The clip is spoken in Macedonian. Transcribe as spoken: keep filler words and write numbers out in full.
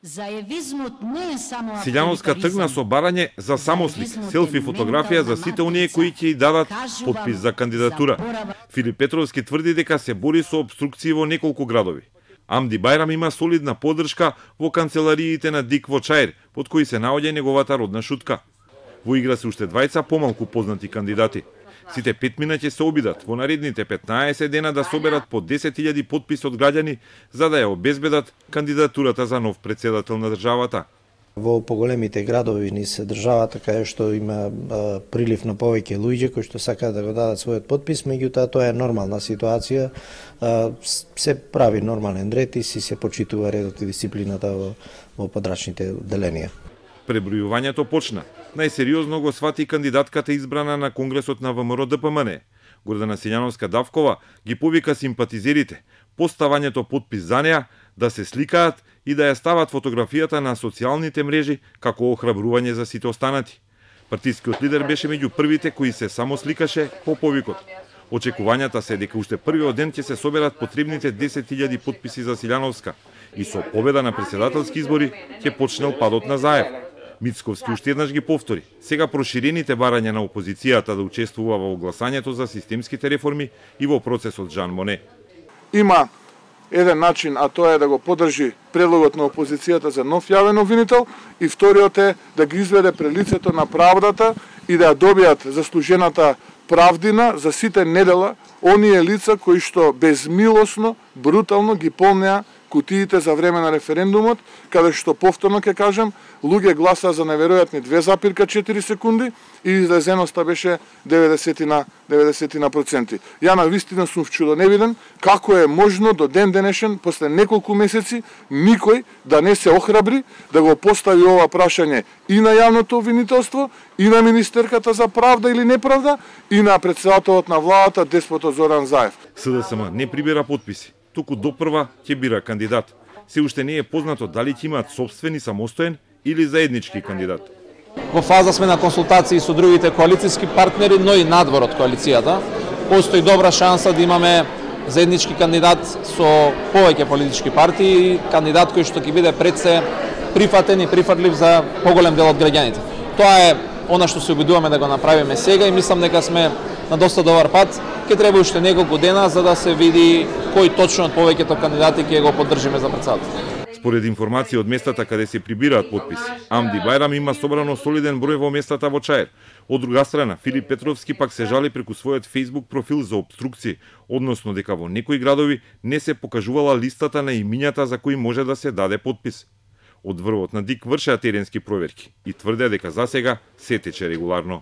Заевизмот не е само Силјановска тргна со барање за самослик, селфи фотографија за сите оние кои ќе ја дадат потпис за кандидатура. Филип Петровски тврди дека се бори со обструкции во неколку градови. Амди Бајрам има солидна поддршка во канцелариите на Дик во Чаир, под кои се наоѓа неговата родна шутка. Во игра се уште двајца помалку познати кандидати. Сите пет мина ќе се обидат во наредните петнаесет дена да соберат по десет илјади потписи од граѓани за да ја обезбедат кандидатурата за нов претседател на државата. Во поголемите градови низ државата кај што има а, прилив на повеќе луѓе кои што сакаат да го дадат својот потпис, меѓутоа тоа е нормална ситуација, а, се прави нормален ред и си се почитува редот и дисциплината во, во подрачните одделенија. Пребројувањето почна. Најсериозно го свати кандидатката избрана на Конгресот на ВМРО Д П М Н. Гордана Силјановска-Давкова ги повика симпатизерите, поставањето потпис за неа, да се сликаат и да ја стават фотографијата на социјалните мрежи како охрабрување за сите останати. Партискиот лидер беше меѓу првите кои се само сликаше по повикот. Очекувањата се дека уште првиот ден ќе се соберат потребните десет илјади потписи за Силјановска и со победа на претседателски избори ќе почнел падот на Заев. Мицковски уште еднаш ги повтори. Сега проширените барања на опозицијата да учествува во огласањето за системските реформи и во процесот Жан Моне. Има еден начин, а тоа е да го поддржи предлогот на опозицијата за нов јавен обвинител и вториот е да ги изведе пред лицето на правдата и да ја добијат заслужената правдина за сите недела оние лица кои што безмилосно, брутално ги полнеа кутиите за време на референдумот, каде што повторно ќе кажам, луѓе гласаа за неверојатни две запирка четири секунди и излезеноста беше деветдесет на проценти. Ја на вистина сум вчудоневиден како е можно до ден денешен, после неколку месеци, никој да не се охрабри да го постави ова прашање и на јавното обвинителство, и на министерката за правда или неправда, и на претседателот на владата Деспото Зоран Заев. С Д С М не прибира потписи, туку допрва ќе бира кандидат. Се уште не е познато дали ќе имаат собствени самостоен или заеднички кандидат. Во фаза сме на консултации со другите коалицијски партнери, но и надвор од коалицијата. Постои добра шанса да имаме заеднички кандидат со повеќе политички партии, кандидат кој што ќе биде пред се прифатен и прифатлив за поголем дел од граѓаните. Тоа е она што се обидуваме да го направиме сега и мислам дека сме на доста добар пат. Ке треба уште неколку дена за да се види кој точно од повеќето кандидати ќе го поддржиме за претседател. Според информации од местата каде се прибираат потписи, Амди Бајрам има собрано солиден број во местата во Чаир. Од друга страна, Филип Петровски пак се жали преку својот Facebook профил за обструкции, односно дека во некои градови не се покажувала листата на имињата за кои може да се даде потпис. Од врвот на Дик вршеа теренски проверки и тврдеа дека засега се тече регуларно.